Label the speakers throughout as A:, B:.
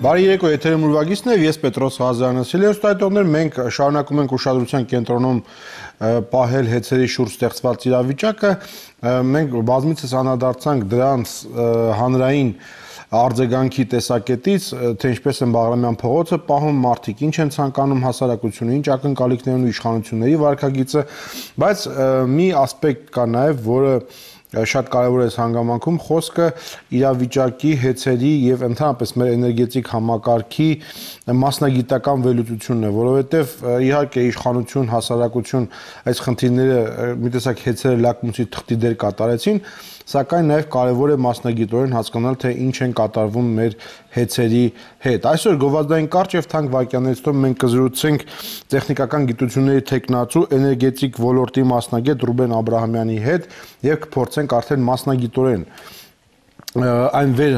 A: Բարի երեկո, եթերում ուրվագիծն է, ես Պետրոս Ղազարյանն եմ։ Սիրելի մենք շարունակում ենք ուշադրության կենտրոնում պահել հեծերի շուրջ ստեղծված իրավիճակը, մենք բազմիցս անդրադարձանք դրանց հանրային արձագանքի տեսակետից, թե ինչպես են Բաղրամյան փողոցը պահում մարդիկ, ինչ են ցանկանում հասարակությունը, ինչ ակնկալիքներն ու իշխանությունների վարքագիծը, բայց մի ասպեկտ կա նաև, որը շատ կարևոր է այս հանգամանքում, խոսքը իրավիճակի, հեծերի եւ ընդհանրապես մեր էներգետիկ համակարգի մասնագիտական վերլուծությունն է, որովհետեւ իհարկե իշխանություն, հասարակություն այս խնդիրները մի տեսակ հեծերը լակմուսի թղթի դեր կատարեցին, սակայն նաև կարևոր է մասնագիտորեն հասկանալ, թե ինչ են կատարվում մեր հեծերի հետ։ Այսօր գովազդային կարճ եւ թանկ վայրկյաններից հետո մենք կզրուցենք տեխնիկական գիտությունների թեկնածու էներգետիկ ոլորտի մասնագետ Ռուբեն Աբրահամյանի հետ եւ կփորձենք արդեն մասնագիտորեն այն վեր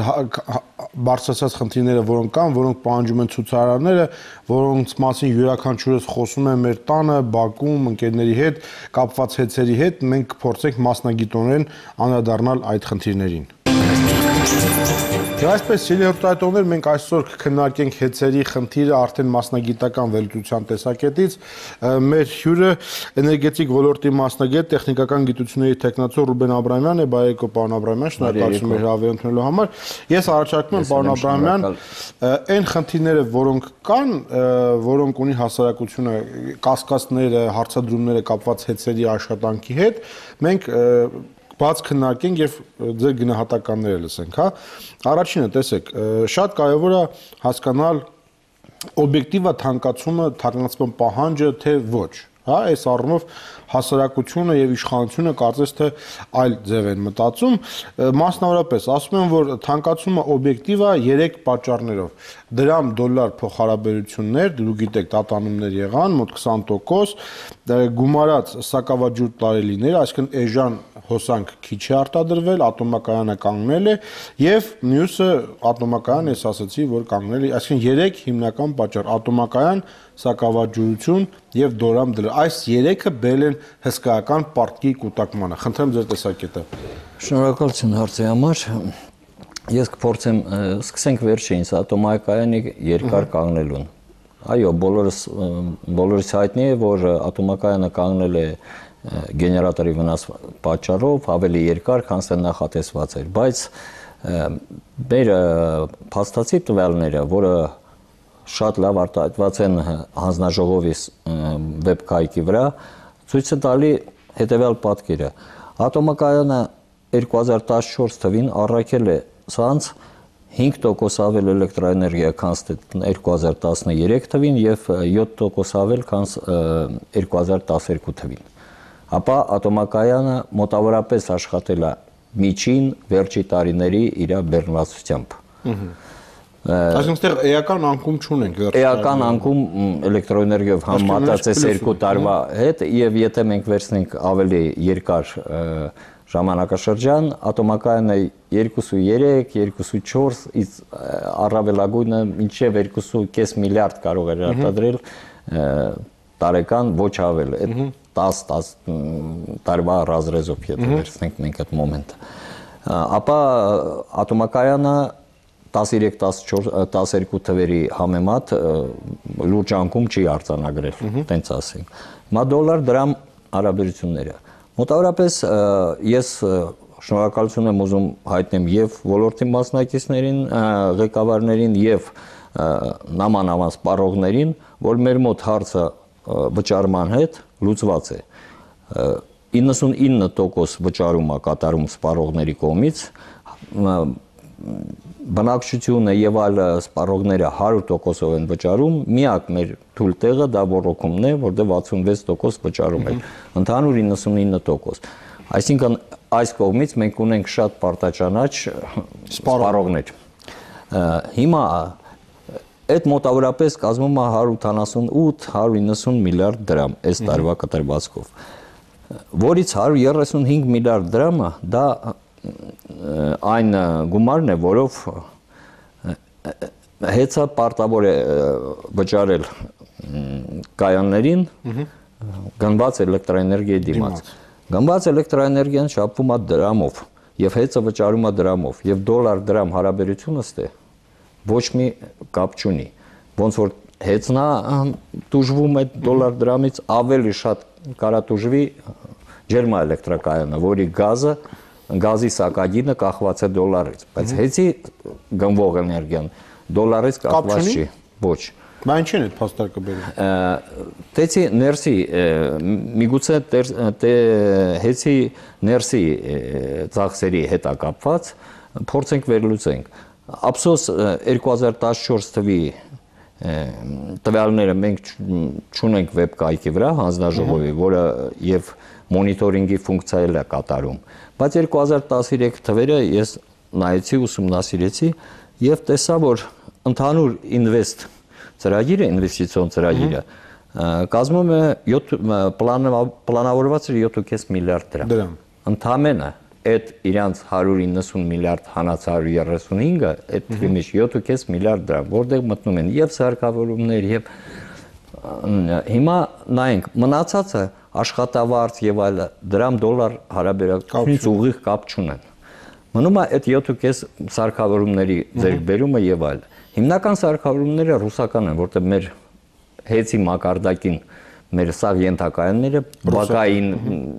A: բարձրացած խնդիրները, որոնք կան, որոնք պահանջում են ցուցարարները, որոնց մասին յուրաքանչյուրս խոսում է մեր տանը, բակում, ընկերների հետ, կապված հեծերի հետ, մենք կփորձենք մասնագիտորեն անդրադառնալ այդ խնդիրներին։ Եվ այսպես, սիրելի հեռուստատիտողներ, մենք այսօր կքննարկենք հեծերի խնդիրը արդեն մասնագիտական վերլուծության տեսակետից։ Մեր հյուրը էներգետիկ ոլորտի մասնագետ, տեխնիկական գիտությունների թեկնածու Ռուբեն Աբրահամյանն է, բարի երեկո, պարոն Աբրահամյան, շնորհակալություն մեր հրավեր ընդունելու համար։ Ես առաջարկում եմ, պարոն Աբրահամյան, այն խնդիրները, որոնք կան, որոնք ունի հասարակությունը, կասկածները, հարցադրումները կապված հեծերի աշխատանքի հետ, մենք բաց քննարկենք եւ ձեր գնահատականները լսենք, հա։ Առաջինը, տեսեք, շատ կարեւոր է հասկանալ օբյեկտիվ է թանկացման պահանջը, թե ոչ, հա, այս առումով հասարակությունը եւ իշխանությունը կարծես թե այլ ձև են մտածում, մասնավորապես ասում են, որ թանկացումը օբյեկտիվ է 3 պատճառներով։ Դրամ դոլար փոխհարաբերություններ, դուք գիտեք, տատանումներ եղան, մոտ 20%, գումարած սակավաջուր տարելիներ, այսինքն էժան հոսանք քիչ է արտադրվել, ատոմակայանը կանգնել է եւ մյուսը ատոմակայան, ես ասացի, որ կանգնել է, այսինքն 3 հիմնական պատճառ՝ ատոմակայան, սակավաջուրություն եւ դորամ դլար։ Այս 3-ը բերել են հսկայական պարտքի կուտակմանը։ Խնդրեմ ձեր տեսակետը։
B: Շնորհակալություն հարցի համար։ Ես կփորձեմ, սկսենք վերջինից, ատոմակայանի երկար կանգնելուն։ Այո, բոլորս հայտնի է, որ ատոմակայանը կանգնել է գեներատորի վնաս պատճառով ավելի երկար, քան թե նախատեսված էր, բայց մեր փաստացի տվյալները, որը շատ լավ արտահայտված են հանձնաժողովի վեբքայքի վրա, ցույց է տալի հետևյալ պատկերը։ Ատոմակայանը 2014 թվին առաքել է ցանց 5% ավել էլեկտրաէներգիա, քան 2013 թվին եւ 7% ավել, քան 2012 թվին։ Ապա ատոմակայանը մոտավորապես աշխատել է միջին վերջի տարիների իր բեռնվածությամբ։
A: Այսինքն այստեղ էական անկում չունենք վերջի տարիներին։
B: Էական անկում էլեկտրոէներգիայով համեմատած այս 2 տարվա հետ եւ եթե մենք վերցնենք ավելի երկար ժամանակաշրջան, ատոմակայանը 2.3, 2.4, առավելագույնը մինչև 2.5 միլիարդ կարող էր արտադրել տարեկան, ոչ ավել, 10 տարվա ռազրեզով եթե վերցնենք մենք այդ մոմենտը։ Ապա ատոմակայանը 13-12 թվերի համեմատ լուրջ անկում չի արձանագրել, տենց ասենք։ Հիմա դոլար դրամ հարաբերությունները։ Մոտավորապես ես շնորհակալություն եմ ուզում հայտնեմ եւ ոլորտի մասնակիցներին, ղեկավարներին եւ նամանավան սպառողներին, որ մեր մոտ հարցը վճարման հետ լուծված է։ 99% վճարում է կատարում սպառողների կողմից, բնակչությունը եւ այլ սպառողները 100%-ով են վճարում, միակ մեր թույլ տեղը դա ոռոգումն է, որտեղ 66% վճարում են, ընդհանուր 99%։ Այսինքն այս կողմից մենք ունենք շատ պարտաճանաչ սպառողներ։ Հիմա այդ մոտավորապես կազմում է 188-190 միլիարդ դրամ այս տարվա կտրվածքով, որից 135 միլիարդ դրամը դա այն գումարն է, որով հեծը պարտավոր է վճարել կայաններին գնված էլեկտրաէներգիայի դիմաց։ Գնված էլեկտրաէներգիան շապվում է դրամով եւ հեծը վճարում է դրամով եւ դոլար դրամ հարաբերությունը ստե ոչ մի կապ չունի։ Ոնց որ հեծնա տուժվում է դոլար դրամից ավելի շատ կարա տուժվի ջերմաէլեկտրակայանը, որի գազի սակագինը կախված է դոլարից, բայց հեծի գնվող էներգիան դոլարից կախված չի, ոչ։
A: Բա ինչի՞ն է փաստարկը բերում։
B: Տեցի ներսի, միգուցե հեծի ներսի ծախսերի հետ կապված, փորձենք վերլուծենք։ Ափսոս 2014 թվի տվյալները մենք չունենք վեբ կայքի վրա հանձնաժողովի, որը եւ մոնիտորինգի ֆունկցիա էլ է կատարում, բայց 2013 թվերը ես նայեցի, ուսումնասիրեցի եւ տեսա, որ ընդհանուր ինվեստ ծրագիրը, ինվեստիցիոն ծրագիրը կազմում է պլանավորված է 7.5 միլիարդ դրամ։ Ընդամենը այդ իրանց 190 միլիարդ հանած 135-ը, այդ թվի մեջ 7.5 միլիարդ դրամ, որտեղ մտնում են եւ սարքավորումներ, եւ հիմա նայենք, մնացածը աշխատավարձ եւ այլ դրամ դոլար հարաբերակցությունից ուղիղ կապ չունեն։ Մնում է այդ 7.5 սարքավորումների ձեռքբերումը եւ այլ։ Հիմնական սարքավորումները ռուսական են, որտեղ մեր հեծի մակարդակին մեր սաղ ենթակայանները, բակային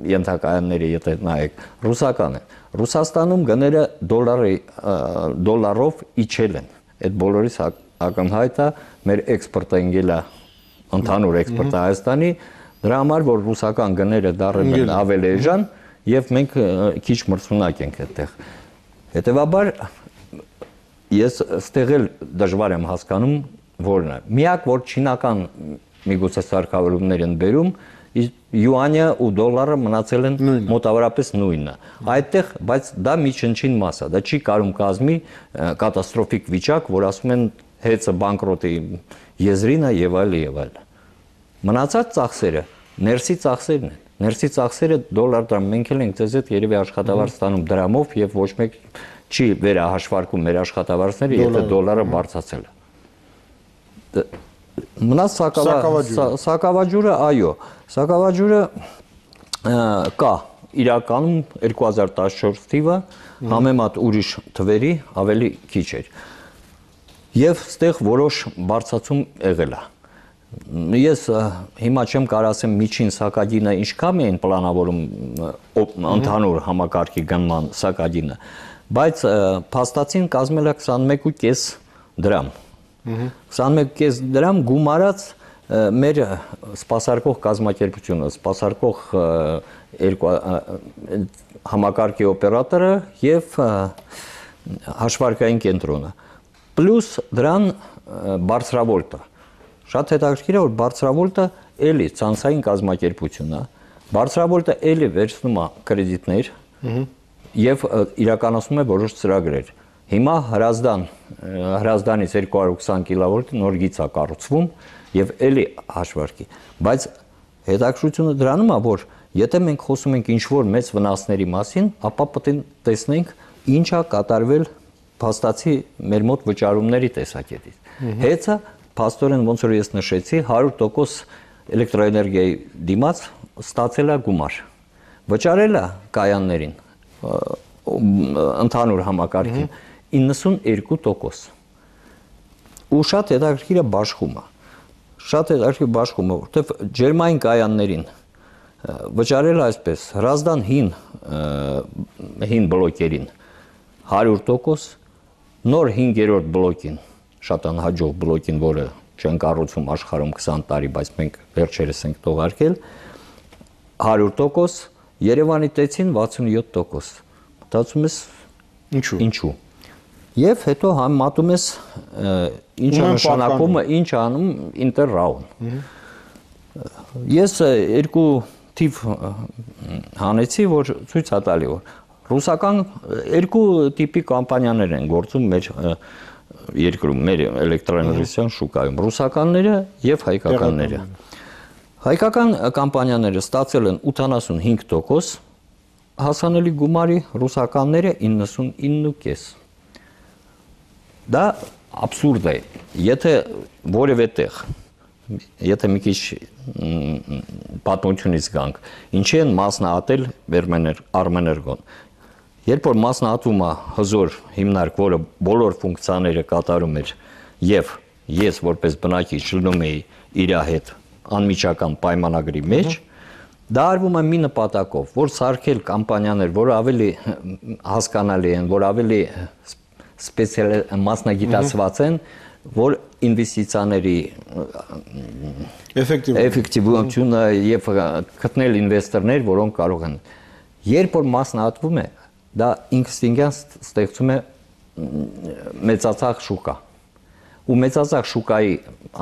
B: ենթակայանները, եթե նայեք, ռուսական են։ Ռուսաստանում գները դոլարով իջել են։ Այդ բոլորից ակնհայտ է մեր էքսպորտը ընկել է, ընդհանուր էքսպորտը Հայաստանի, դրա համար, որ ռուսական գները դառել են ավելի էժան եւ մենք քիչ մրցունակ ենք այդտեղ։ Հետեւաբար ես ստեղ էլ դժվար եմ հասկանում որն է։ Միակ որ չինական միգուցե սարքավորումներ են բերում, յուանյա ու դոլարը մնացել են մոտավորապես նույնը։ Այդտեղ, բայց դա միջնչին մաս է, դա չի կարում կազմի կատաստրոֆիկ վիճակ, որ ասում են հեծը բանկրոտի եզրին է եւ այլ եւ այլ։ Մնացած ծախսերը ներսի ծախսերն են։ Ներսի ծախսերը դոլար դրամ մենք էլ ենք ձեզ հետ երևի աշխատավարձ ստանում դրամով եւ ոչ մեկ չի վերահաշվարկում մեր աշխատավարձները, եթե դոլարը բարձրացել է։ Մնաց սակավաջուրը, այո, սակավաջուրը կա իրականում 2014 թիվը համեմատ ուրիշ թվերի ավելի քիչ էր եւ ստեղ որոշ բարձրացում եղել է։ Ես հիմա չեմ կարող ասեմ միջին սակագինը ինչքան էին պլանավորում ընդհանուր համակարգի գնման սակագինը, բայց փաստացին կազմել է 21.5 դրամ։ 21.5 դրամ գումարած մեր սպասարկող կազմակերպությունը, սպասարկող համակարգի օպերատորը եւ հաշվարկային կենտրոնը։ Պլյուս դրան բարձրավոլտը։ Շատ հետաքրքիր է, որ բարձրավոլտը էլի ցանցային կազմակերպություն է։ Բարձրավոլտը էլի վերցնում է կրեդիտներ եւ իրականացնում է որոշ ծրագրեր։ Հիմա Հրազդանից 220 կիլովոլտ նոր գիծ է կառուցվում եւ էլի հաշվարկի, բայց հետաքրքրությունը դրանում է, որ եթե մենք խոսում ենք ինչ-որ մեծ վնասների մասին, ապա պետք է տեսնենք ինչ է կատարվել փաստացի մեր մոտ վճարումների տեսակետից։ Հեծը փաստորեն ոնց որ ես նշեցի 100% էլեկտրոէներգիայի դիմաց ստացել է գումար։ Վճարել է կայաններին ընդհանուր համակարգին 92%։ Ու շատ հետաքրքիր է բաշխումը։ Շատ հետաքրքիր բաշխումը, որտեղ ջերմային կայաններին վճարել այսպես Հրազդան հին բլոկերին 100%, նոր 5-րդ բլոկին, շատ անհաջող բլոկին, որը չեն կառուցում աշխարհում 20 տարի, բայց մենք վերջերս ենք թողարկել 100%, Երևանի տեցին 67%։ Մտածում ես ինչու։ Եվ հետո համատում ես ինչ է նշանակումը, ինչ անում ինտերրաուն։ Ես երկու թիվ հանեցի, որ ցույց է տալի, որ ռուսական երկու տիպի կամպանիաներ են գործում մեր երկրում, մեր էլեկտրաէներգիան շուկայում, ռուսականները եւ հայկականները։ Հայկական կամպանիաները ստացել են 85% հասանելի գումարի, ռուսականները 99.5%։ Դա աբսուրդ է։ Եթե որևէ տեղ, եթե մի քիչ պատմությունից գանք, ինչի են մասնահատել Արմեներգոն։ Երբ որ մասնատվում է հզոր հիմնարկ, որը բոլոր ֆունկցիաները կատարում էր, եւ ես որպես բնակիչ լինում էի իր հետ անմիջական պայմանագրի մեջ, դա արվում է մի նպատակով, որ սարքել կամպանիաներ, որ ավելի հասկանալի են, որ ավելի մասնագիտացված են, որ ինվեստիցիաների էֆեկտիվությունը եւ գտնել ինվեստորներ, որոնք կարող են։ Երբ որ մասնատվում է, դա ինստինկտիվ ստեղծում է մեծացած շուկա։ Ու մեծացած շուկայի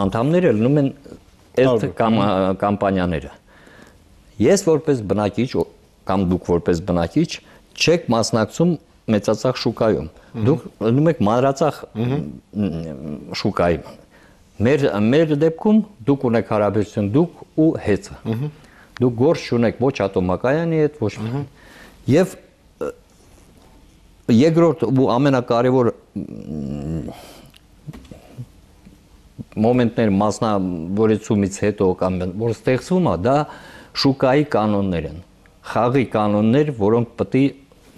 B: անդամները լինում են այդ կամպանիաները։ Ես որպես բնակիչ կամ դուք որպես բնակիչ չեք մասնակցում մեծացած շուկայում։ Դուք լինում եք մանրացած շուկայի։ Մեր դեպքում դուք ունեք հարաբերություն դուք ու հեծը։ Դուք գործ չունեք ոչ ատոմակայանի հետ, ոչ եւ երկրորդ ու ամենակարևոր մոմենտներ մասնավորեցումից հետո կամ որ ստեղծվում է, դա շուկայի կանոններ են, խաղի կանոններ, որոնք պետք է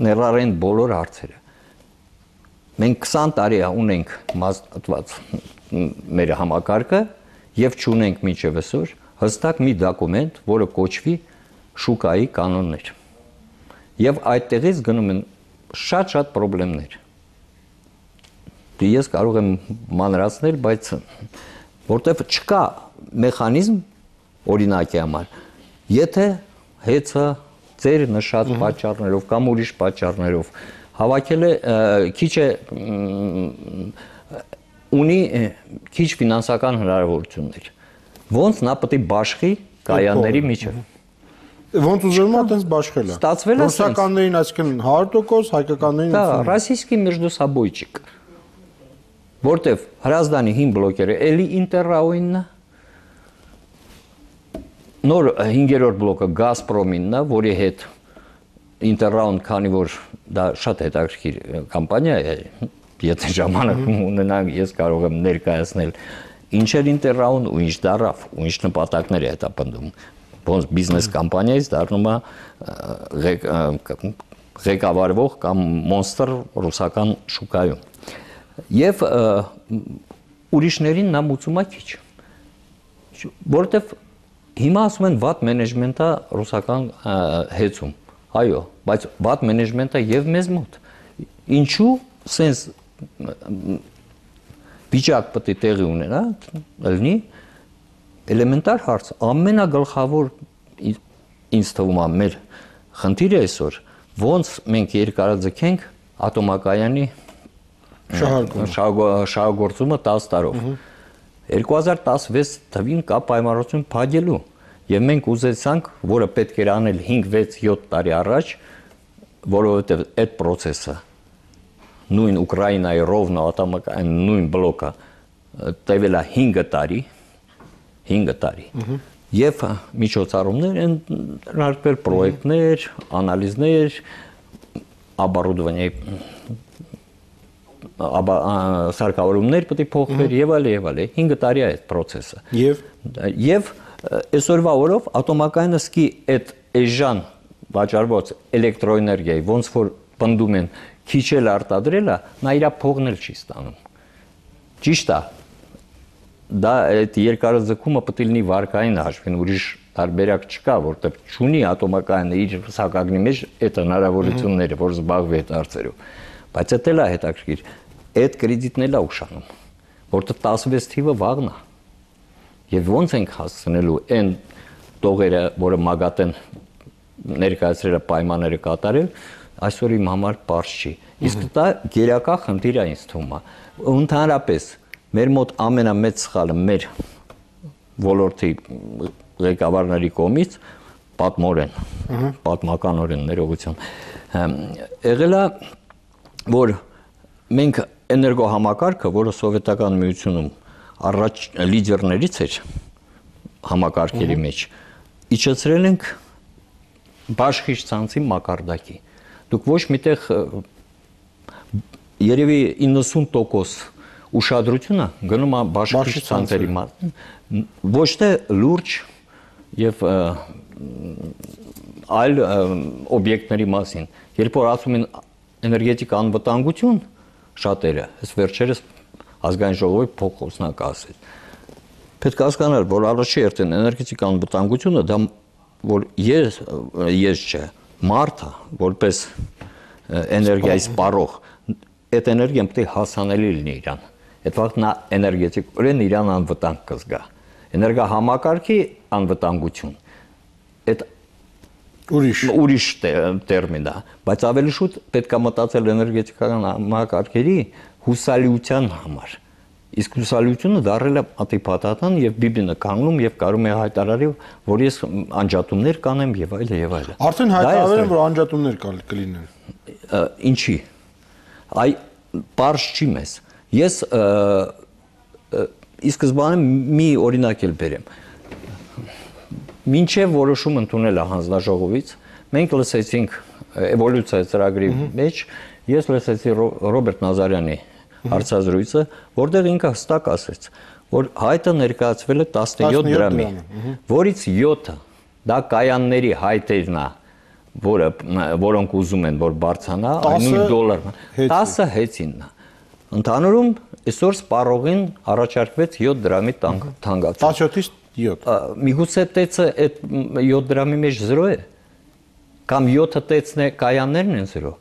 B: ներառեն բոլոր հարցերը։ Մենք 20 տարի ունենք մասնատված մեր համակարգը եւ չունենք մինչեւ այսօր հստակ մի դոկումենտ, որը կոչվի շուկայի կանոններ։ Եվ այդտեղից գնում են շատ խնդիրներ։ Ես կարող եմ մանրացնել, բայց որտեվ չկա մեխանիզմ օրինակի համար, եթե հեծը ձեր նշած պատճառներով կամ ուրիշ պատճառներով հավաքել է քիչ է ունի քիչ ֆինանսական հնարավորություններ, ոնց նա պետք է բաշխի կայանների միջև։
A: Ոնց ուզում է այդպես բաշխել է։ Ռուսականներին այսինքն 100%, հայկականներին 50%։
B: Да, российский между собойчик։ Որտեվ Հրազդանի հին բլոկերը էլի Ինտերրաուինն է, նոր 5-րդ բլոկը Գազպրոմինն է, որի հետ Ինտերրաուն, քանի որ դա շատ հետաքրքիր կամպանիա է, եթե ժամանակ ունենանք, ես կարող եմ ներկայացնել ինչ էր Ինտերրաուն ու ինչ դարավ, ու ինչ նպատակներ է հետապնդում։ Ոնց բիզնես կամպանիայից դառնում է ղեկավարվող կամ մոնստր ռուսական շուկայում։ Եվ ուրիշներին նա մուծում է քիչ, որովհետև հիմա ասում են վատ մենեջմենտը ռուսական հեծում, այո, բայց վատ մենեջմենտը եւ մեզ մոտ, ինչու սենց վիճակ պետք է տեղի ունենա, լինի էլեմենտար հարց, ամենագլխավոր ինձ թվում է մեր խնդիրը այսօր, ոնց մենք երկարաձգենք ատոմակայանի շահագործումը 10 տարով։ 2016 թվին կա պայմանավորություն փակելու եւ մենք ուզեցանք, որը պետք էր անել 5-6-7 տարի առաջ, որովհետեւ այդ process-ը նույն Ուկրաինայի ռովնա ատոմակայանի նույն բլոկը տևել է 5 տարի եւ միջոցառումներ են հնարքվել պրոյեկտներ, անալիզներ, оборудование սարքավորումներ պետք է փոխվեր եւ այլ 5 տարի է այդ process-ը եւ այսօրվա օրով ատոմակայանը սկի այդ էժան վաճառված էլեկտրոէներգիայի ոնց որ պնդում են քիչ էլ արտադրելը նա իր փողն էլ չի ստանում ճիշտ է դա այդ երկարաձգումը պետք է լինի վարկային հաշվին ուրիշ տարբերակ չկա որտեղ չունի ատոմակայանը իր սակագնի մեջ այդ հնարավորությունները որ զբաղվի այդ հարցերով բայց դա էլ է հետաքրքիր այդ կրեդիտն էլ է ուշանում որտեղ 16 թիվը վաղն է եւ ոնց ենք հասցնելու այն տողերը որը մագատեն ներկայացրել պայմանները կատարել այսօր իմ համար པարզ չի իսկ դա գերակա խնդիր է ինձ թվում է ընդհանրապես մեր մոտ ամենամեծ սխալը մեր ոլորտի ղեկավարների կողմից պատմականորեն ներողություն եղել է որ մենք էներգոհամակարգը որը սովետական միությունում առաջ լիդերներից էր համակարգերի մեջ իջեցրել ենք բաշխիչ ցանցի մակարդակի դուք ոչ միտեղ երևի 90% ուշադրությունը գնում է բաշխիչ ցանցերի ոչ թե լուրջ եւ այլ օբյեկտների մասին երբ որ ասում են էներգետիկ անվտանգություն շատերը, այս վերջերս ազգային ժողովի փոխոսնակը ասեց։ Պետք է հասկանալ, որ առաջի հերթին էներգետիկ անվտանգությունը դա որ ես չէ, մարդը որպես էներգիայի սպառող, այդ էներգիան պետք է հասանելի լինի իրան։ Այդ վաղ նա էներգետիկորեն իրան անվտանգ կզգա։ Էներգա համակարգի անվտանգություն։ Այդ ուրիշ տերմին է, բայց ավելի շուտ պետք է մտածել էներգետիկական համակարգերի հուսալիության համար։ Իսկ հուսալիությունը դառել է ատիպատական եւ բիբինը կանգնում եւ կարում է հայտարարի, որ ես անջատումներ կանեմ եւ այլ եւ այլ։
A: Արդեն հայտարարել են, որ անջատումներ կլինեն։
B: Ինչի։ Այ բարձ չի մեզ։ Ես ի սկզբանե մի օրինակ էլ բերեմ։ Մինչև որոշում ընդունել է հանձնաժողովից, մենք լսեցինք էվոլյուցիա ծրագրի մեջ, ես լսեցի Ռոբերտ Նազարյանի հարցազրույցը, որտեղ ինքը հստակ ասեց, որ հայտը ներկայացվել է 17 դրամի, որից 7-ը դա կայանների հայտերն է, որոնք ուզում են, որ բարձրանա, $9, 10-ը հեծինն է։ Ընդհանուրում այսօր սպառողին առաջարկվեց 7 դրամի թանկացում։
A: 17-ից 7։
B: Միգուցե տեցը այդ 7 դրամի մեջ 0 է, կամ 7-ը տեցն է կայաններն են 0։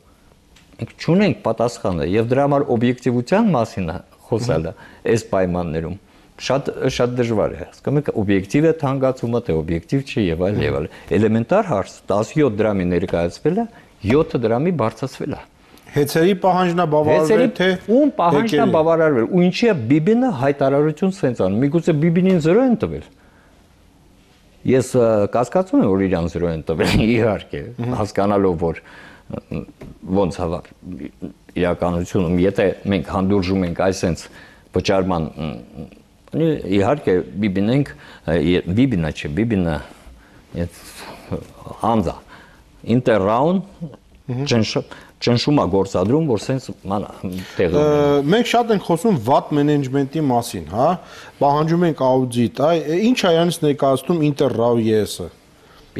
B: Մենք չունենք պատասխանը եւ դրա համար օբյեկտիվության մասին խոսալը այս պայմաններում շատ դժվար է։ Հասկանում եք, օբյեկտիվ է թանկացումը, թե օբյեկտիվ չի եւ այլ եւ այլ։ Էլեմենտար հարց 17 դրամի ներկայացվել է, 7 դրամի բարձրացվել է։
A: Հեծերի պահանջն է բավարարվել, թե
B: ում պահանջն է բավարարվել, ու ինչի է Բիբինը հայտարարություն սենց անում։ Միգուցե Բիբինին 0 են տվել։ Ես կասկածում եմ, որ իրան 0 են տվել, իհարկե, հասկանալով, որ ոնց հավա իրականությունում, եթե մենք հանդուրժում ենք այսենց վճարման, իհարկե Բիբինը անձա, ինտերրաուն ճնշում է գործադրում, որ սենց տեղը ունեն։
A: Մենք շատ ենք խոսում վատ մենեջմենտի մասին, հա, պահանջում ենք աուդիտ, ինչ է իրանից ներկայացնում Ինտերրաու ES-ը։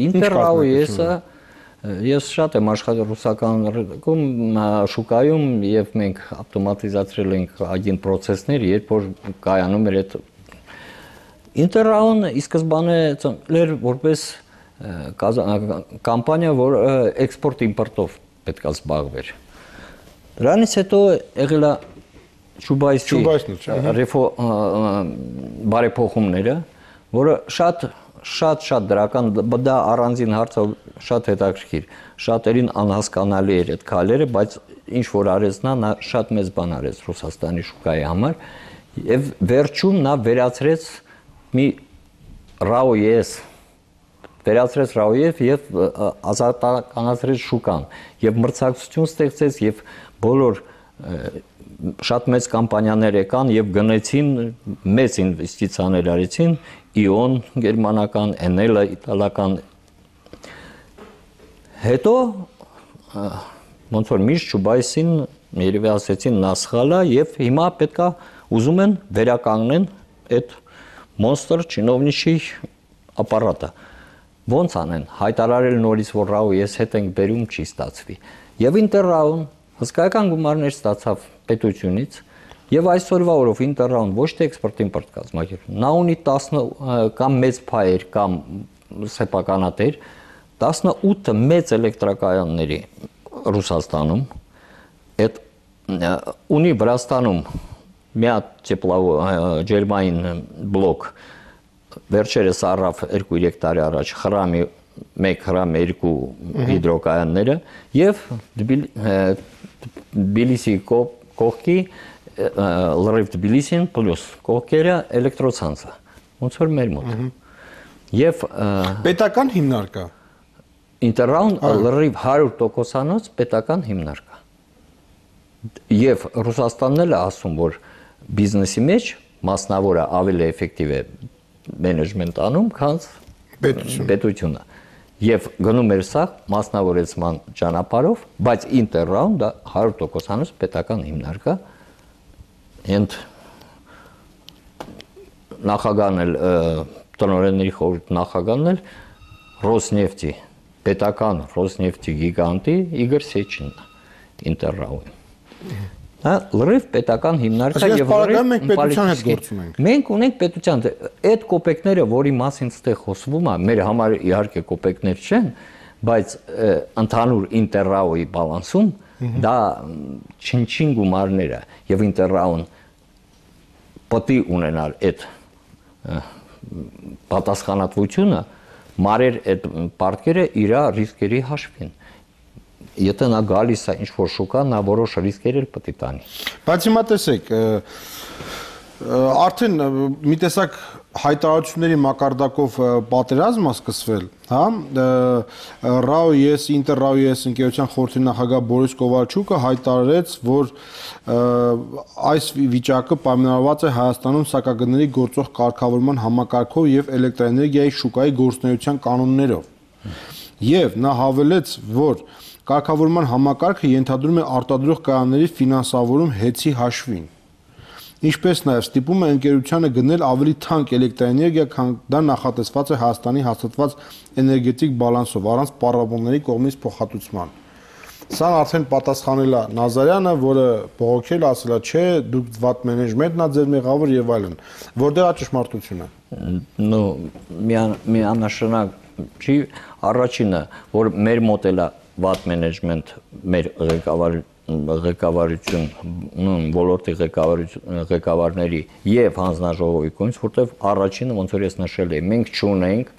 B: Ինտերրաու ES-ը ես շատ եմ աշխատել ռուսական շուկայում եւ մենք ավտոմատիզացրել ենք այգին process-ներ, երբ որ կայանում էր այդ Ինտերրաուն ի սկզբանե ծնվել որպես կամպանիա, որ էքսպորտ-իմպորտով պետք է զբաղվեր։ Դրանից հետո եղել է Չուբայսի բարեփոխումները, որը շատ դրական, դա առանձին հարց է, շատ հետաքրքիր, շատերին անհասկանալի էր այդ քայլերը, բայց ինչ որ արեց նա շատ մեծ բան արեց Ռուսաստանի շուկայի համար, եւ վերջում նա վերացրեց մի RAO-ES վերացրեց RAO-ը եւ ազատականացրեց շուկան եւ մրցակցություն ստեղծեց եւ բոլոր շատ մեծ կամպանիաներ եկան եւ գնեցին մեծ ինվեստիցիաներ արեցին Իոն գերմանական, Enel իտալական հետո ոնց որ միշտ Չուբայսին երևի ասեցին նա սխալ է եւ հիմա պետքա ուզում են վերականգնեն այդ մոնստր չինովնիչի ապարատը ոնց անեն հայտարարել նորից որ RAO-ը հետ ենք բերում չի ստացվի եւ Ինտերրաուն հսկայական գումարներ ստացավ պետությունից եւ այսօրվա օրով Ինտերրաուն ոչ թե էքսպորտ-իմպորտ կազմակերպում նա ունի 10 կամ մեծ փայեր կամ սեփականատեր 18 մեծ էլեկտրակայանների Ռուսաստանում այդ ունի Վրաստանում մի հատ ջերմային բլոկ վերջերս առավ 2-3 տարի առաջ խրամի 1 խրամ 2 հիդրոկայանները եւ Թբիլիսի կողքի լրիվ Թբիլիսին պլյուս կողքերը էլեկտրոցանցը ոնց որ մեր մոտ եւ
A: պետական հիմնարկ է
B: Ինտերրաուն լրիվ 100%-անոց պետական հիմնարկ է եւ Ռուսաստանն էլ է ասում որ բիզնեսի մեջ մասնավորը ավելի էֆեկտիվ է մենեջմենտ անում, քան պետությունը։ Եվ գնում էր սա մասնավորեցման ճանապարհով, բայց Ինտերրաուն դա 100%-անոց պետական հիմնարկ է։ Ընդ նախագահն էլ տնօրենների խորհուրդ նախագահն էլ Ռոսնեֆտի պետական Ռոսնեֆտի գիգանտի Իգոր Սեչինն է։ Ինտերրաուին։ Դա լրիվ պետական հիմնարկա
A: եւ լրիվ մենք պետության հետ գործում ենք։
B: Մենք ունենք պետության այդ կոպեկները, որի մասին ստեղ խոսվում է, մեր համար իհարկե կոպեկներ չեն, բայց ընդհանուր Ինտերրաուի բալանսում դա չնչին գումարները եւ Ինտերրաուն պետք է ունենալ այդ պատասխանատվությունը մարեր այդ պարտքերը իր ռիսկերի հաշվին։ Եթե նա գալիս է ինչ-որ շուկա, նա որոշ ռիսկեր էլ պետք է տանի։
A: Բայց հիմա տեսեք, արդեն մի տեսակ հայտարարությունների մակարդակով պատերազմ է սկսվել, հա, RAO-ES, Inter-RAO-ES ընկերության խորհրդի նախագահ Բորիս Կովալչուկը հայտարարեց, որ այս վիճակը պայմանավորված է Հայաստանում սակագների գործող կարգավորման համակարգով եւ էլեկտրաէներգիայի շուկայի գործունեության կանոններով։ Եվ նա հավելեց, որ կարգավորման համակարգը ենթադրում է արտադրող կայանների ֆինանսավորում հեծի հաշվին։ Ինչպես նաև ստիպում է ընկերությանը գնել ավելի թանկ էլեկտրաէներգիա, քան դա նախատեսված է Հայաստանի հաստատված էներգետիկ բալանսով, առանց պառավողների կողմից փոխհատուցման։ Սա արդեն պատասխանել է Նազարյանը, որը բողոքել է, ասել է, չէ, դուք վատ մենեջմենտն է ձեր մեղավոր եւ այլն։ Որտեղ է ճշմարտությունը։
B: Ну, միանշանակ չի առաջինը, որ մեր մոտ էլ է վատ մենեջմենտ, մեր ղեկավարություն, ոլորտի ղեկավարների եւ հանձնաժողովի կողմից, որտեղ առաջինը ոնց որ ես նշել եմ, մենք չունենք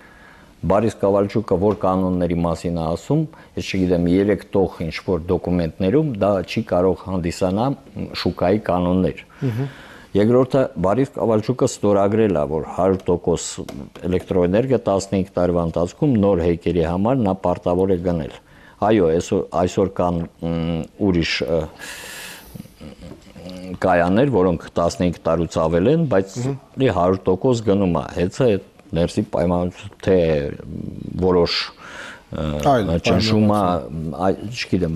B: Բարիս Կովալչուկը որ կանոնների մասին է ասում, ես չգիտեմ 3 տող ինչ-որ դոկումենտներում դա չի կարող հանդիսանալ շուկայի կանոններ։ Երկրորդը Բարիս Կովալչուկը ստորագրել է, որ 100% էլեկտրոէներգիա 15 տարվա ընթացքում նոր հեկերի համար նա պարտավոր է գնել։ Այո, այսօր կան ուրիշ կայաններ, որոնք 15 տարուց ավել են, բայց 100% գնում է։ Հեծը ներսի պայմանություն թե որոշ ճնշումը, չգիտեմ,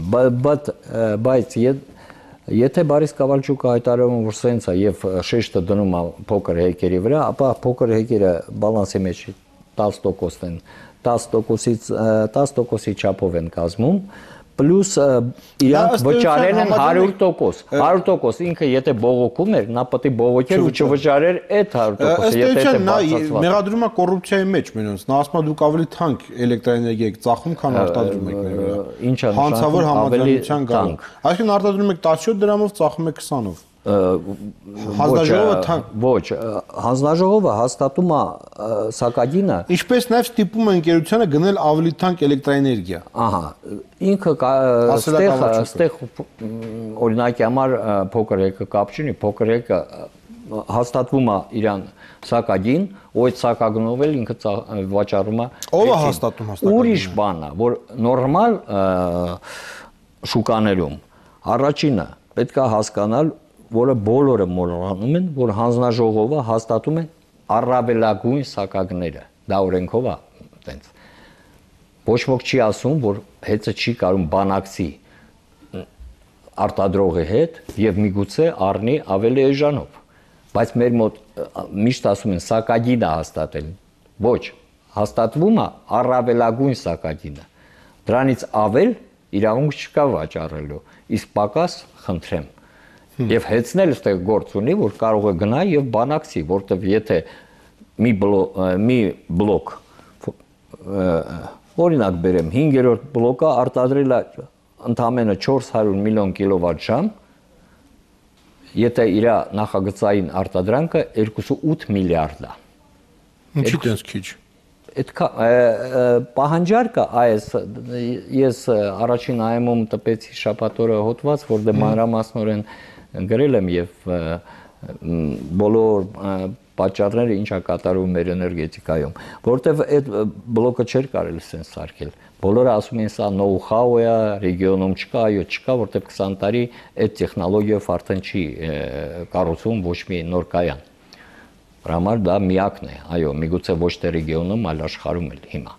B: բայց եթե Բարիս Կովալչուկը հայտարարում որ սենց է եւ շեշտը դնում է փոքր հեկերի վրա, ապա փոքր հեկերը բալանսի մեջ 10% են, 10%-ի չափով են կազմում, պլյուս իրանք վճարել են 100%, 100% ինքը եթե բողոքում էր, նա պետք է բողոքեր ու չվճարեր այդ 100%-ը, եթե դա բացասված։
A: Մեղադրում է կոռուպցիայի մեջ մենոնց, նա ասում է դուք ավելի թանկ էլեկտրաէներգիա եք ծախում, քան արտադրում եք մեր վրա։
B: Ինչա
A: հանցավոր համաձայնության գալով։ Այսինքն արտադրում եք 17 դրամով, ծախում եք 20-ով։ Հանձնաժողովը թանկ
B: ոչ, հանձնաժողովը հաստատում է սակագինը,
A: ինչպես նաև ստիպում է ընկերությանը գնել ավելի թանկ էլեկտրաէներգիա։
B: Ահա, ինքը ստեղ օրինակի համար փոքր հեկը կապ չունի, փոքր հեկը հաստատվում է իրան սակագին, ու այդ սակագնով էլ ինքը վաճառում է։
A: Ո՞վ է հաստատում հաստատում։
B: Ուրիշ բան է, որ նորմալ շուկաներում առաջինը պետք է հասկանալ, որը բոլորը մոռանում են, որ հանձնաժողովը հաստատում է առավելագույն սակագները։ Դա օրենքով է, տենց։ Ոչ ոք չի ասում, որ հեծը չի կարող բանակցի արտադրողի հետ եւ միգուցե առնի ավելի էժանով։ Բայց մեր մոտ միշտ ասում են սակագինը հաստատել։ Ոչ, հաստատվում է առավելագույն սակագինը։ Դրանից ավել իրավունք չկա վաճառելու, իսկ պակաս խնդրեմ։ Եվ հեծնել այստեղ գործ ունի, որ կարող է գնա եւ բանակցի, որտեվ եթե մի բլոկ օրինակ բերեմ 5-րդ բլոկը արտադրել է ընդամենը 400 միլիոն կիլովատ-ժամ, եթե իր նախագծային արտադրանքը 2.8 միլիարդ է։
A: Ինչի՞ տենց քիչ։
B: Այդ պահանջարկը ես առաջին այմում տպեցի շաբաթօրը հոդված, որ դե մանրամասնորեն գրել եմ եւ բոլոր պատճառները ինչա կատարվում մեր էներգետիկայում, որտեվ այդ բլոկը չէր կարելի սենց սարքել։ Բոլորը ասում են սա նոու-հաու է, ռեգիոնում չկա, այո, չկա, որտեվ 20 տարի այդ տեխնոլոգիայով արդեն չի կառուցվում ոչ մի նոր կայան։ Դրա համար դա միակն է, այո, միգուցե ոչ թե ռեգիոնում, այլ աշխարհում էլ հիմա։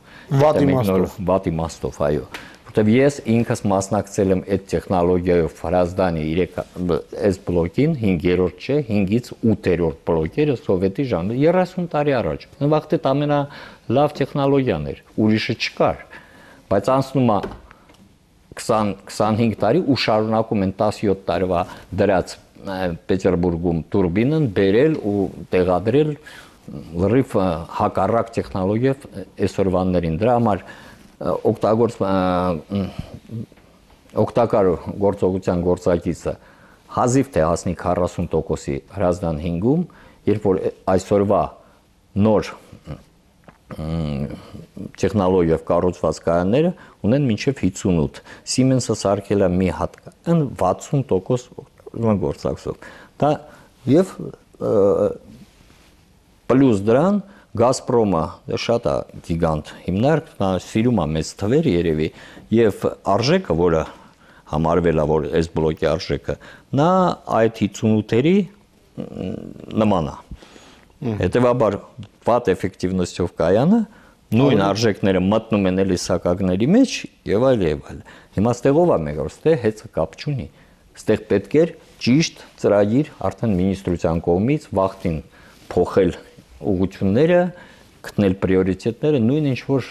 B: Վատ իմաստով, այո։ Որտեվ ես ինքս մասնակցել եմ այդ տեխնոլոգիայով Հրազդանի այս բլոկին 5-րդ չէ, 5-ից 8-րդ բլոկերը սովետի ժամանակ 30 տարի առաջ։ Նվաղ դա ամենալավ տեխնոլոգիան էր, ուրիշը չկար։ Բայց անցնում է 25 տարի ու շարունակում են 17 տարվա դրած Պետերբուրգում տուրբինն բերել ու տեղադրել լրիվ հակառակ տեխնոլոգիով այսօրվաններին։ Դրա համար օգտակար գործողության գործակիցը հազիվ թե հասնի 40%-ի հրազդան 5-ում, երբ որ այսօրվա նոր տեխնոլոգիով կառուցված կայանները ունեն մինչև 58։ Siemens-ը սարքել է մի հատ կայան 60% գործակցով։ Դա եւ պլյուս դրան Գազպրոմը շատ է գիգանտ հիմնարկ, նա սիրում է մեծ թվեր երևի եւ արժեքը, որը համարվել է որ այս բլոկի արժեքը, նա այդ 58-երի նման է։ Հետևաբար վատ էֆեկտիվնոստով կայանը նույն արժեքները մտնում են էլի սակագների մեջ եւ այլ եւ այլ։ Հիմա ստեղով է մեկ որ ստեղ հետ կապ չունի։ Ստեղ պետք էր ճիշտ ծրագիր արդեն մինիստրության կողմից վախտին փոխել ուղղությունները, գտնել պրիորիտետները, նույն ինչ որ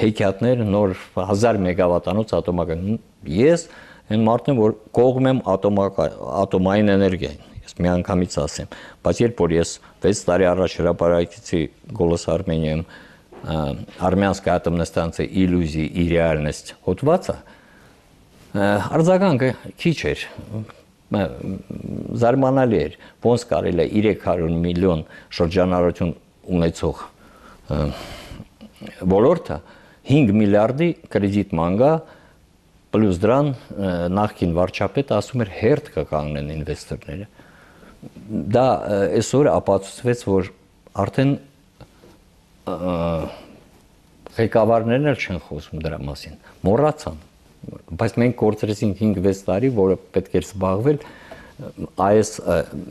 B: հեքիաթներ նոր 1000 մեգավատանոց ատոմական։ Ես այն մարդն եմ, որ կողմ եմ ատոմային էներգիային։ Ես միանգամից ասեմ, բայց երբ որ ես 6 տարի առաջ հրապարակեցի «Голос Армении» Армянская атомная станция «Иллюзии и реальность» հոդվածը, արձագանքը քիչ էր, զարմանալի էր, ոնց կարելի է 300 միլիոն շրջանառություն ունեցող ոլորտը 5 միլիարդի կրեդիտ մանգա, պլյուս դրան նախկին վարչապետը ասում էր հերթ կկանգնեն ինվեստորները։ Դա այսօր ապացուցվեց, որ արդեն ղեկավարներն էլ չեն խոսում դրա մասին, մոռացան, բայց մենք կորցրեցինք 5-6 տարի, որը պետք էր զբաղվել այս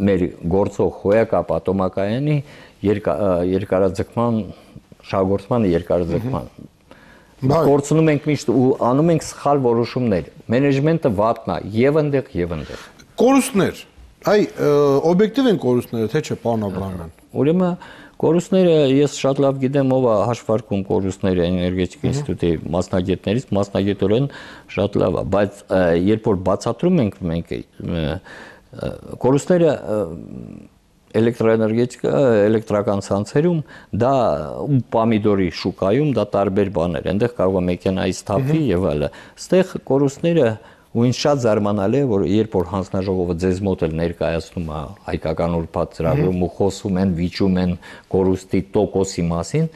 B: մեր գործող հոյակապ ատոմակայանի երկարաձգման, շահգործման երկարաձգման։ Կորցնում ենք միշտ ու անում ենք սխալ որոշումներ։ Մենեջմենտը վատն է եւ այնտեղ եւ այնտեղ։
A: Կորուստներ։ Այ օբյեկտիվ են կորուստները, թե չէ, պարոն Աբրահամյան։
B: Ուրեմն կորուստները ես շատ լավ գիտեմ ով է հաշվարկում կորուստները էներգետիկ ինստիտուտի մասնագետներից, մասնագետորեն շատ լավ է, բայց երբ որ բացատրում ենք մենք կորուստները էլեկտրոէներգետիկա, էլեկտրական ցանցերում դա ու պամիդորի շուկայում դա տարբեր բաներ, այնտեղ կարող է մեքենայից թափվի եւ այլը։ Այստեղ կորուստները ու ինձ շատ զարմանալի է, որ երբ որ հանձնաժողովը ձեզ մոտ էլ ներկայացնում է հայկական ուրբաթ ծրագրում ու խոսում են, վիճում են կորուստի տոկոսի մասին,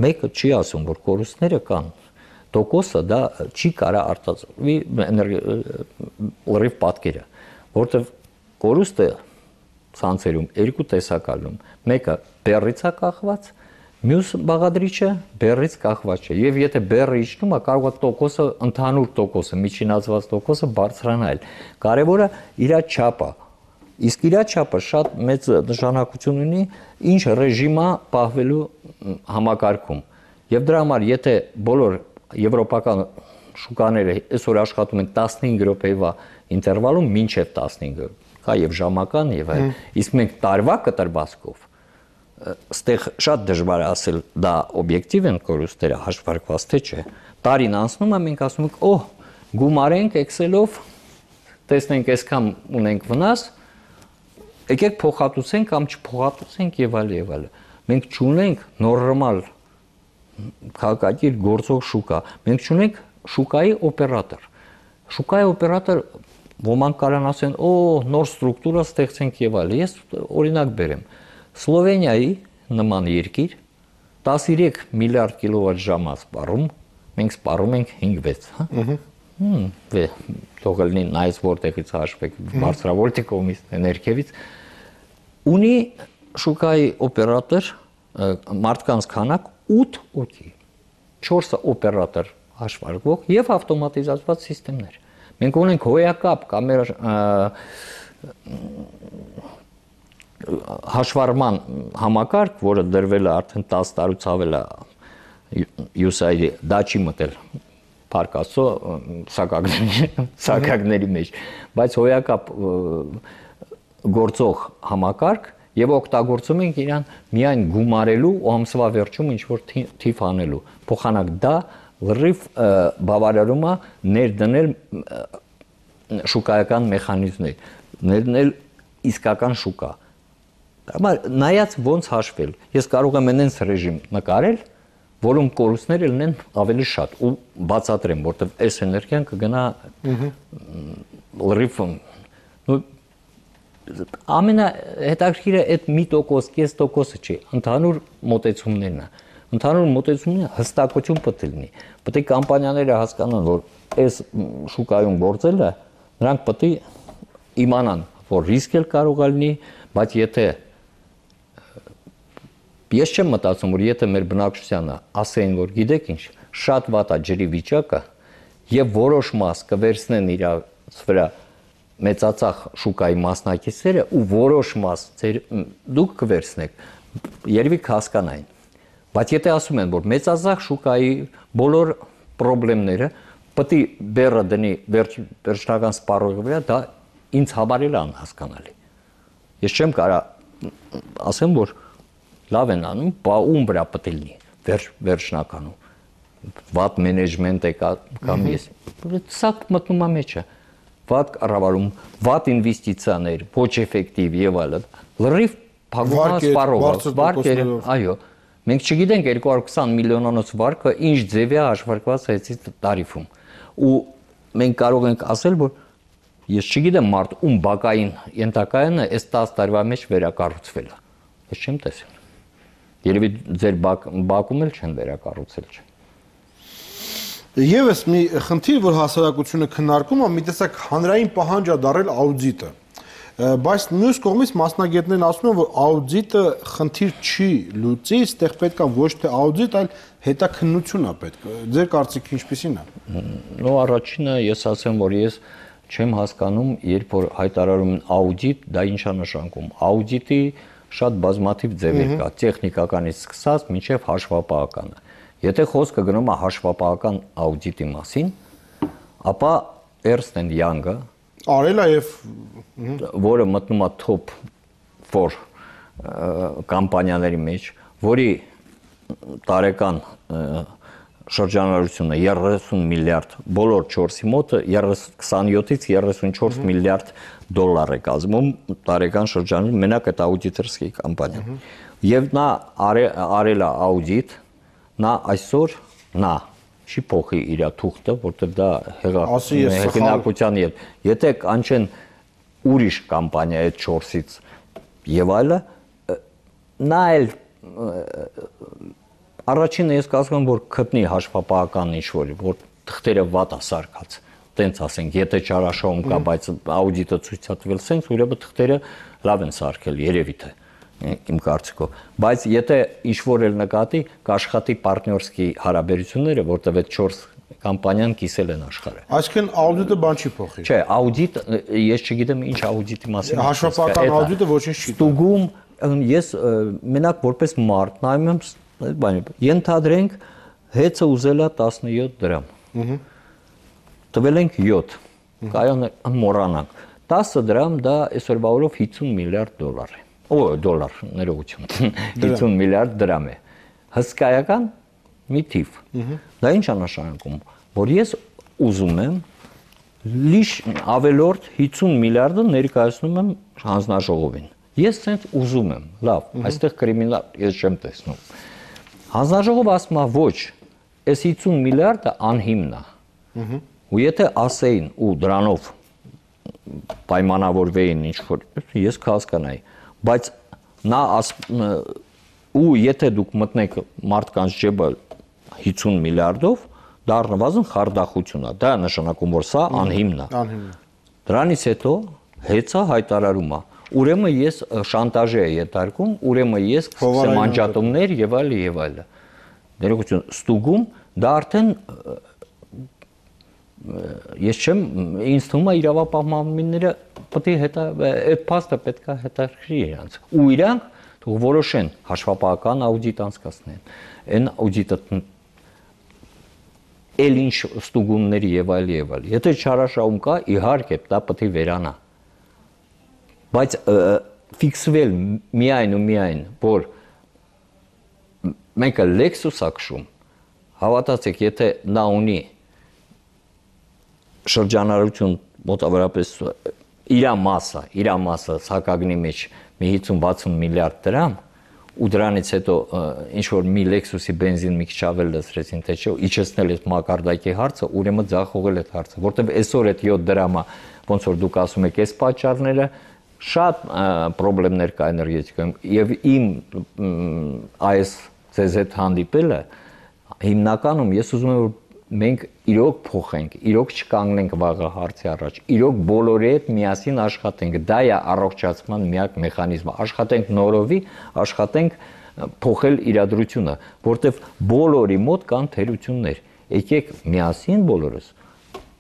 B: մեկը չի ասում, որ կորուստները կան։ Տոկոսը դա չի կարա արտադրվի լրիվ պատկերը, որտեղ կորուստը ցանցերում երկու տեսակալում, մեկը բեռից է կախված, մյուս բաղադրիչը բեռից կախված չէ, եւ եթե բեռը իջնում է, կարող է տոկոսը, ընդհանուր տոկոսը, միջինացված տոկոսը բարձրանալ։ Կարևորը իր չափը, իսկ իր չափը շատ մեծ նշանակություն ունի ինչ ռեժիմա պահվելու համակարգում։ Եվ դրա համար եթե բոլոր եվրոպական շուկաները այսօր աշխատում են 15 րոպեվա ինտերվալում, մինչև 15 կա եւ ժամական եւ այլ, իսկ մենք տարվա կտրվածքով ստեղ շատ դժվար է ասել դա օբյեկտիվ են կորուստները հաշվարկված թե չէ։ Տարին անցնում է, մենք ասում ենք, օհ, գումարենք Excel-ով, տեսնենք այսքան ունենք վնաս, եկեք փոխհատուցենք կամ չփոխհատուցենք եւ այլ եւ այլ։ Մենք չունենք նորմալ քաղաքակիր գործող շուկա։ Մենք չունենք շուկայի օպերատոր։ Շուկայի օպերատոր ոմանք կարան ասեն, օ, նոր ստրուկտուրա ստեղծենք եւ այլ։ Ես օրինակ բերեմ։ Սլովենիայի նման երկիր 13 միլիարդ կիլովատ ժամ է սպառում, մենք սպառում ենք 5-6, հա։ Թող լինի նայես որտեղից հաշվեք, բարձրավոլտի կողմից, ներքևից։ Ունի շուկայի օպերատոր մարդկանց քանակ 8 օքի, 4 օպերատոր հաշվարկվող եւ ավտոմատիզացված համակարգեր։ Մենք ունենք հոյակապ կամեր հաշվառման համակարգ, որը դրվել է արդեն 10 տարուց ավել է USAID-ի, դա չի մտել Փարքասո սակագների մեջ, բայց հոյակապ գործող համակարգ եւ օգտագործում ենք իրան միայն գումարելու ու ամսվա վերջում ինչ որ թիվ անելու։ Փոխանակ դա լրիվ բավարարում է ներդնել շուկայական մեխանիզմներ, ներդնել իսկական շուկա։ Համար նայած ոնց հաշվել, ես կարող եմ այնց ռեժիմ նկարել, որում կորուստները լինեն ավելի շատ ու բացատրեմ, որտեղ այս էներգիան կգնա լրիվ ամենահետաքրքիրը այդ 1%, 0.5%-ը չի, ընդհանուր մոտեցումներն է։ Ընդհանուր մոտեցումները հստակություն պետք է լինի։ Պետք է կամպանիաները հասկանան, որ այս շուկայում գործելը նրանք պետք է իմանան, որ ռիսկ էլ կարող է լինի, բայց եթե ես չեմ մտածում, որ եթե մեր բնակչությանը ասեին, որ գիտեք ինչ, շատ վատ է ջրի վիճակը եւ որոշ մաս կվերցնեն իրաց վրա մեծածախ շուկայի մասնակիցները ու որոշ մաս դուք կվերցնեք, երևի կհասկանային։ Բայց եթե ասում են, որ մեծածախ շուկայի բոլոր խնդիրները պետք է բեռը դնի վերջնական սպառողի վրա, դա ինձ համար էլ անհասկանալի։ Ես չեմ կարող ասեմ, որ լավ են անում, բա ում վրա պետք է լինի վերջնականում։ Վատ մենեջմենտ է կամ ես։ Սա մտնում է մեջը։ Վատ կառավարում, վատ ինվեստիցիաներ, ոչ էֆեկտիվ եւ այլն։ Լրիվ փակումա սպառողը, վարկեր, այո։ Մենք չգիտենք 220 միլիոնանոց վարկը ինչ ձև է հաշվարկված այսի տարիֆում։ Ու մենք կարող ենք ասել, որ ես չգիտեմ մարդ ում բակային ենթակայանը այս 10 տարվա մեջ վերակառուցվել է։ Ես չեմ տեսել։ Երևի ձեր բակում էլ չեն վերակառուցել, չէ։
A: Եվս մի խնդիր, որ հասարակությունը քննարկում է, մի տեսակ հանրային պահանջ է դարել աուդիտը։ Բայց մյուս կողմից մասնագետներն ասում են, որ աուդիտը խնդիր չի լուծի, այստեղ պետք է ոչ թե աուդիտ, այլ հետաքննություն է պետք։ Ձեր կարծիքը ինչպիսին է։
B: Նո առաջինը ես ասեմ, որ ես չեմ հասկանում, երբ որ հայտարարում են աուդիտ, դա ինչ է նշանակում։ Աուդիտի շատ բազմաթիվ ձևեր կա, տեխնիկականից սկսած մինչև հաշվապահականը։ Եթե խոսքը գնում է հաշվապահական աուդիտի մասին, ապա Ernst & Young-ը
A: արել է եւ
B: որը մտնում է top 4 կամպանիաների մեջ, որի տարեկան շրջանառությունը 30 միլիարդ, բոլոր 4-ի մոտը 27-ից 34 միլիարդ դոլար է կազմում տարեկան շրջանում մենակ այդ աուդիտորսկի կամպանիան։ Եվ նա արել է աուդիտ, նա այսօր չի փոխի իր թուղթը, որտեղ դա հեղինակության եթե կանչեն ուրիշ կամպանիա այդ 4-ից եւ այլը, նա էլ առաջինը ես կասեմ, որ գտնի հաշվապահական ինչ-որ, որ թղթերը վատ է սարքած, տենց ասենք, եթե չարաշահում կա, բայց աուդիտը ցույց է տվել սենց, ուրեմն թղթերը լավ են սարքել, երևի թե իմ կարծիքով, բայց եթե ինչ-որ էլ նկատի, կաշխատի պարտներսկի հարաբերությունները, որտեղ այդ 4 կամպանիան կիսել են աշխարհը։
A: Այսինքն աուդիտը բան չի փոխի։
B: Չէ, աուդիտ, ես չգիտեմ ինչ աուդիտի մասին։
A: Հաշվապահական աուդիտը ոչինչ չի։
B: Ստուգում ես մենակ որպես մարդ նայում եմ այդ բանը։ Ենթադրենք հեծը ուզելա 17 դրամ։ Տվել ենք 7։ Կայանը մոռանանք։ 10 դրամ դա այսօրվա օրով 50 միլիարդ դոլար է։ Դոլար, ներողություն, 50 միլիարդ դրամ է։ Հսկայական մի թիվ։ Դա ինչ է նշանակում, որ ես ուզում եմ լիշ ավելորդ 50 միլիարդը ներկայացնում եմ հանձնաժողովին։ Ես ցենց ուզում եմ, լավ, այստեղ կրիմինալ ես չեմ տեսնում։ Հանձնաժողովը ասում է ոչ, այս 50 միլիարդը անհիմն է։ Ու եթե ասեին ու դրանով պայմանավորվեին ինչ-որ, ես կհասկանայի, բայց նա ու եթե դուք մտնեք մարդկանց ջեբը 50 միլիարդով, դա առնվազն խարդախություն է, դա նշանակում, որ սա անհիմն է։ Դրանից հետո հեծա հայտարարում է, ուրեմն ես շանտաժի է ենթարկում, ուրեմն ես կսկսեմ անջատումներ եւ այլ եւ այլ։ Ներողություն, ստուգում դա արդեն ես չեմ, ինձ թվում է իրավապահմանները պետք է այդ փաստը պետք է հետաքրքրի իրանց։ Ու իրանք թող որոշեն հաշվապահական աուդիտ անցկացնեն։ Այն աուդիտը էլ ինչ ստուգումների եւ այլ եւ այլ։ Եթե չարաշահում կա, իհարկե դա պետք է վերանա։ Բայց ֆիքսվել միայն ու միայն, որ մեկը Lexus ակշում, Հավատացեք, եթե նա ունի շրջանառություն մոտավորապես իր մասը սակագնի մեջ մի 50-60 միլիարդ դրամ ու դրանից հետո ինչ որ մի Lexus-ի բենզին մի քիչ ավել լցրեցին, թե չէ, իջեցնել այդ մակարդակի հարցը, ուրեմն ձախողել այդ հարցը, որտեղ այսօր այդ 7 դրամը, ոնց որ դուք ասում եք, այս պատճառները շատ խնդիրներ կա էներգետիկայում եւ իմ այս CZ հանդիպելը հիմնականում ես ուզում եմ որ մենք իրոք փոխենք, իրոք չկանգնենք վաղը հարցի առաջ, իրոք բոլորի հետ միասին աշխատենք, դա է առողջացման միակ մեխանիզմը, աշխատենք նորովի, աշխատենք փոխել իրադրությունը, որտեվ բոլորի մոտ կան թերություններ, եկեք միասին բոլորս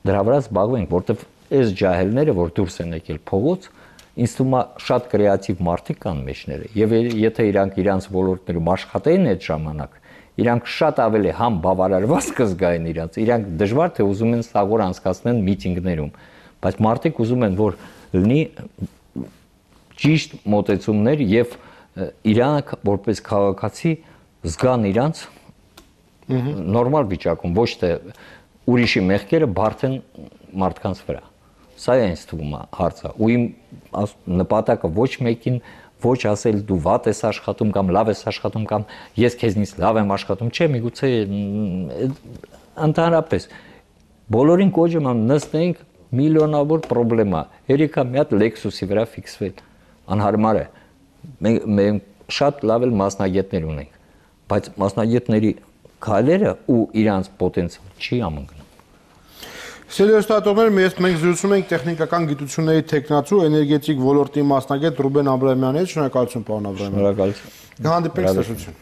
B: դրա վրա զբաղվենք, որտեվ այս ջահելները, որ դուրս են եկել փողոց, ինձ թվում է շատ կրեատիվ մարդիկ կան մեջները, եւ եթե իրանք իրանց ոլորտներում աշխատեին այդ ժամանակ իրանք շատ ավելի համ բավարարված կզգային իրանք դժվար թե ուզում են սաղոր անցկացնեն միտինգներում, բայց մարդիկ ուզում են որ լինի ճիշտ մոտեցումներ եւ իրանք որպես քաղաքացի զգան իրանք նորմալ վիճակում, ոչ թե ուրիշի մեղքերը բարթեն մարդկանց վրա։ Սա է ինձ թվում հարցը, ու իմ նպատակը ոչ մեկին ոչ ասել դու վատ ես աշխատում կամ լավ ես աշխատում կամ ես քեզնից լավ եմ աշխատում, չէ, միգուցե ընդհանրապես բոլորին կոչում եմ նստենք միլիոնավոր խնդրեմա, երեքա մի հատ Lexus-ի վրա ֆիքսվել, անհարմար է, մենք շատ լավ էլ մասնագետներ ունենք, բայց մասնագետների քայլերը ու իրանց պոտենցիալ չի ամընկնում։
A: Սելեստատորներ, մենք զրուցում ենք տեխնիկական գիտությունների թեկնածու էներգետիկ ոլորտի մասնագետ Ռուբեն Աբրահամյանի հետ, շնորհակալություն պարոն Աբրահամյան։
B: Շնորհակալություն։
A: Հանդիպենք, ցտեսություն։